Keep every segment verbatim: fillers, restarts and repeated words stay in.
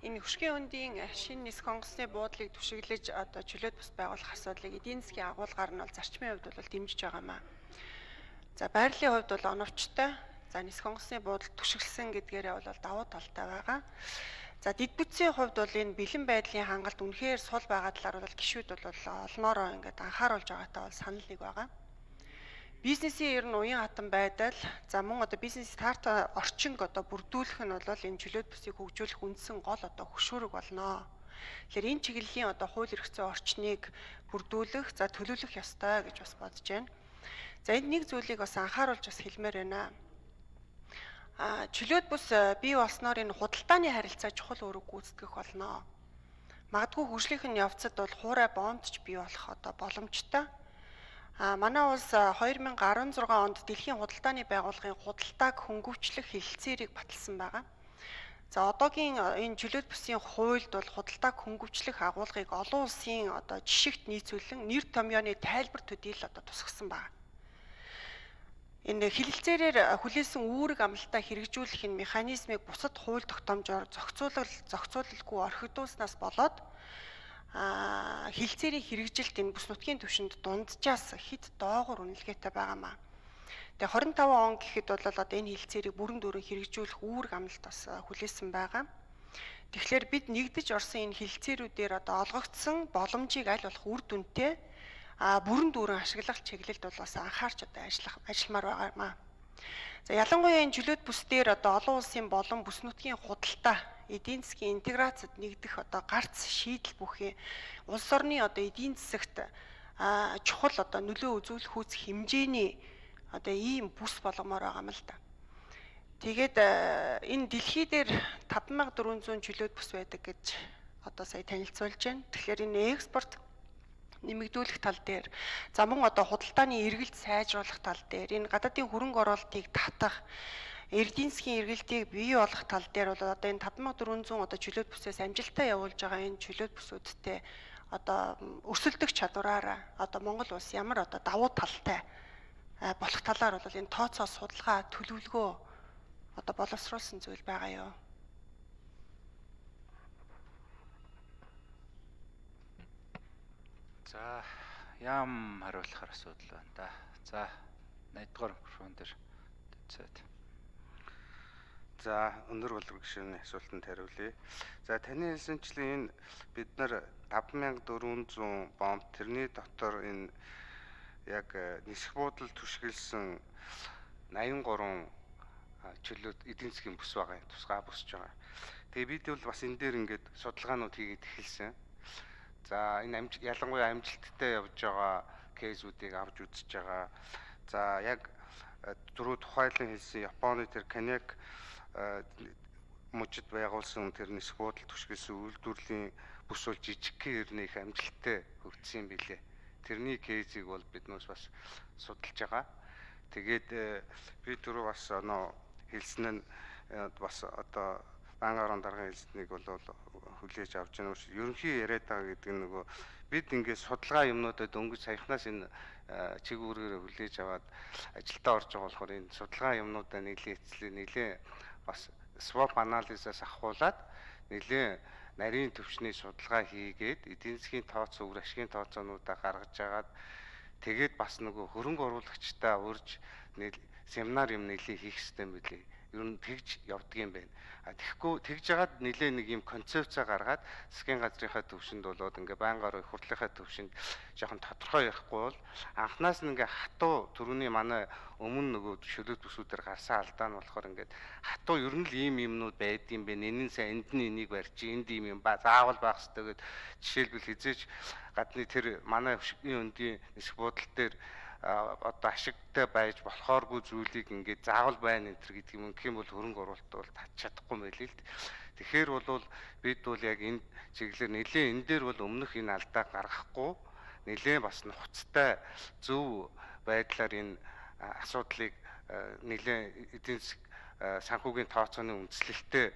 Энэ хөшгийн үндийн шинэ нисэх онгоцны буудлыг түшиглэж одоо чөлөөт бус байгуулах асуудлыг эдийн засгийн агуулгаар нь бол зарчмын хувьд бол дэмжиж байгаамаа. За байрлалын хувьд бол оновчтой. За нисэх онгоцны буудлыг түшиглсэн гэдгээрээ бол давуу талтай байгаа. За дэд бүтцийн хувьд бол энэ бэлэн байдлын хангалт үнэхээр сул байгаа талаар бол гишүүд бол олноороо ингээд анхааруулж байгаатай бол санал нэг байгаа. Бизнесийн ер нь уян хатан байдал, за мөн одоо бизнес старт орчинг одоо бүрдүүлэх нь бол энэ чөлөөт бүсийг хөгжүүлэх үндсэн гол одоо хөшүүрэг болно. Тэгэхээр энэ чиглэлийн одоо хууль эрх зүйн орчныг бүрдүүлэх, за төлөвлөх ёстой гэж бас бодож байна. За энд нэг зүйлийг бас анхааруулж бас хэлмээр байна. А чөлөөт бүс бий болсноор энэ худалдааны харилцаа чухал үүрэг гүйцэтгэх болно. Магадгүй хөгжлийнхэн явцад бол хуурай бомбч бий болох одоо боломжтой. А манай улс хоёр мянга арван зургаан онд дэлхийн худалдааны байгууллагын худалдааг хөнгөвчлөх хэлэлцээрийг баталсан байгаа. За одоогийн энэ чөлөөт бүсийн хуульд бол худалдааг хөнгөвчлөх агуулгыг олон улсын одоо жишигт нийцүүлэн нэр томьёоны тайлбар төдийл одоо тусгасан байна. Энэ хэлэлцээрээр хүлээсэн үүрэг амлалтаа хэрэгжүүлэх энэ механизмыг бусад хууль тогтоомжоор зохицуулал зохицуулалгүй орхигдуулснаас болоод а хэлцээрийн хэрэгжилт энэ бүс нутгийн түвшинд дунджаас хэд доогуур үнэлгээтэй байгаамаа. Тэгээ хорин таван он гэхэд бол одоо энэ хэлцээрийг бүрэн дүүрэн хэрэгжүүлэх үүрэг амлалт бас хүлээсэн байгаа. Тэгэхээр бид нэгдэж орсон энэ хэлцээрүүдээр одоо олгогдсон боломжийг аль болох үр дүнтэй а бүрэн дүүрэн ашиглах чиглэлд бол бас анхаарч одоо ажиллах ажилламаар байгаамаа. За ялангуяа энэ чөлөөт бүс дээр одоо олон улсын болон бүс нутгийн худалдаа эдийн засгийн интеграцид нэгдэх одоо гарц шийдэл бүхий улс орны одоо эдийн засагт чухал одоо нөлөө үзүүлэх үүс хэмжээний одоо ийм бүс болгомоор байгаа юм л да. Тэгээд энэ дэлхий дээр таван мянга дөрвөн зуун чөлөөт бүс байдаг гэж одоо сая танилцуулж байна. Тэгэхээр энэ экспорт нэмэгдүүлэх тал дээр, за мөн одоо худалдааны эргэлт сайжруулах тал дээр, энэ гадаадын хөрөнгө оруулалтыг татах, эдийн засгийн эргэлтийг бий болгох тал дээр бол одоо энэ таван мянга дөрвөн зуун одоо чөлөөт бүсээс амжилттай явуулж байгаа энэ чөлөөт бүсүүдтэй одоо өрсөлдөх чадвараараа одоо Монгол улс ямар одоо давуу талтай болох талаар бол энэ тооцоо судалгаа төлөвлөгөө одоо боловсруулсан зүйл байгаа юу? За ям хариулахар асуудал байна да. За найдвар микрофон дээр төцөөд. За өндөр боловсрол гишүүний асуултанд хариулъя. За таны хэлсэнчлэн энэ бид нар таван мянга дөрвөн зуун бомб тэрний дотор энэ яг нисэх буудал түшгэлсэн найман гурван чөлөөт эдийн засгийн бүс байгаа юм. Тусгай бүсж байгаа. Тэгээ бид бол бас энэ дээр ингээд судалгаанууд хийгээд эхэлсэн. За энэ амжилт ялангуяа амжилттай явж байгаа кейсүүдийг авч үзэж байгаа. За яг дөрөв тухайлан хэлсэн Японы тэр Канек мужид байгуулсан тэр нисэх буудал түшгэлсэн үйлдвэрлэлийн бүс бол жижигхэн хэрнээ их амжилттай хөгжсөн юм билээ. Тэрний кейсийг бол биднээс бас судалж байгаа. Тэгээд би түрүү бас оноо хэлсэн нь бас одоо банк орон даргын хэлснийг бол хүлээж авч байгаа юм. Ерөнхий яриад байгаа гэдэг нь нөгөө бид ингээд судалгаа юмнуудад өнгөж саяхнаас энэ чиг үүргээр хүлээж аваад ажилдаа орж байгаа болохоор энэ судалгаа юмнуудаа нэлийн эцлээ нэлийн бас swap analysis-аас ахуулаад нэлийн нарийн төвчний судалгаа хийгээд эдийн засгийн тооцоо үр ашигын тооцоонуудаа гаргаж агаад тэгээд бас нөгөө хөрөнгө оруулагчтай урьж семинар юм нэлийн хийх хэрэгтэй юм билий. Ер нь тэгж явдаг юм байна. А тэгэхгүй тэгж жагаад нэлээ нэг юм концепцаа гаргаад засгийн газрынхаа төвшөнд болоод ингээ байнгаар хурлынхаа төвшөнд жоохон тодорхой ярихгүй бол анхнаас нь ингээ хатуу төрөний манай өмнө нөгөө чөлөөт бүсүүдээр гарсан алдаа нь болохоор ингээд хатуу ер нь л ийм юмнууд байдсан бэ. Энийн сайн энд нь энийг барьчих, энд ийм юм ба заавал байх хэрэгтэй гэд жишээлбэл хизээч гадны тэр манай хөшгийн өндийн нисэх буудал дээр одоо ашигтай байж болохооргүй зүйлийг ингээд заавал байна энэ төр гэдэг юм. Гэх юм бол хөрөнгө оруулалт бол татч чадахгүй байлээ л. Тэгэхээр бол бид бол яг энэ чиглэлээр нэлээ энэ дээр бол өмнөх энэ алдаа гаргахгүй нэлээ бас нухацтай зөв байдлаар энэ асуудлыг нэлээ эдийн засаг санхүүгийн тооцооны үндэслэлтэй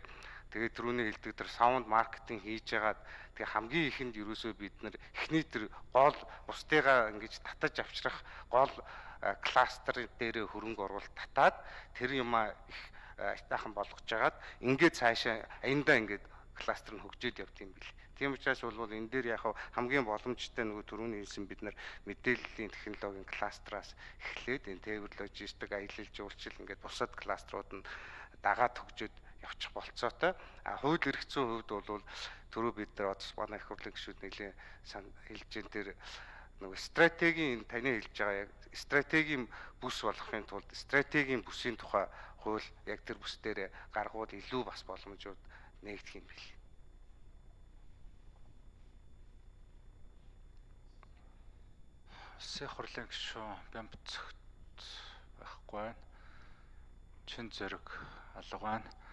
тэгээд түрүүний хэлдэг тэр саунд маркетинг хийж ягаад тэгээ хамгийн ихэнд ерөөсөө бид нар эхний тэр гол бусдыгаа ингэж татаж авчрах гол кластер дээр хөрөнгө оруулалт татаад тэр юмаа их айтаахан болгож жагаад ингээд цаашаа аяндаа ингээд кластер нь хөгжөөд явд юм бил. Тийм учраас бол энэ дээр яг хамгийн боломжтой нөгөө түрүүний хэлсэн бид нар мэдээллийн технологийн кластераас эхлээд энэ тээвэр логистик, аялал жуулчлал ингээд бусад кластерууд нь дагаад хөгжөөд явчих болцоотой. А хууль эрх зүйн хувьд бол түрүү бид нар одос манай их хурлын гишүүд нэлээ хэлж энэ тэр нөгөө стратегийн таны хэлж байгаа яг стратегийн бүс болохын тулд стратегийн бүсийн тухай хууль яг тэр бүс дээр гаргуул илүү бас боломжууд нээгдэх юм бил. Улсын хурлын гишүүн Бямбцогт байхгүй байна. Чин Зориг алга байна.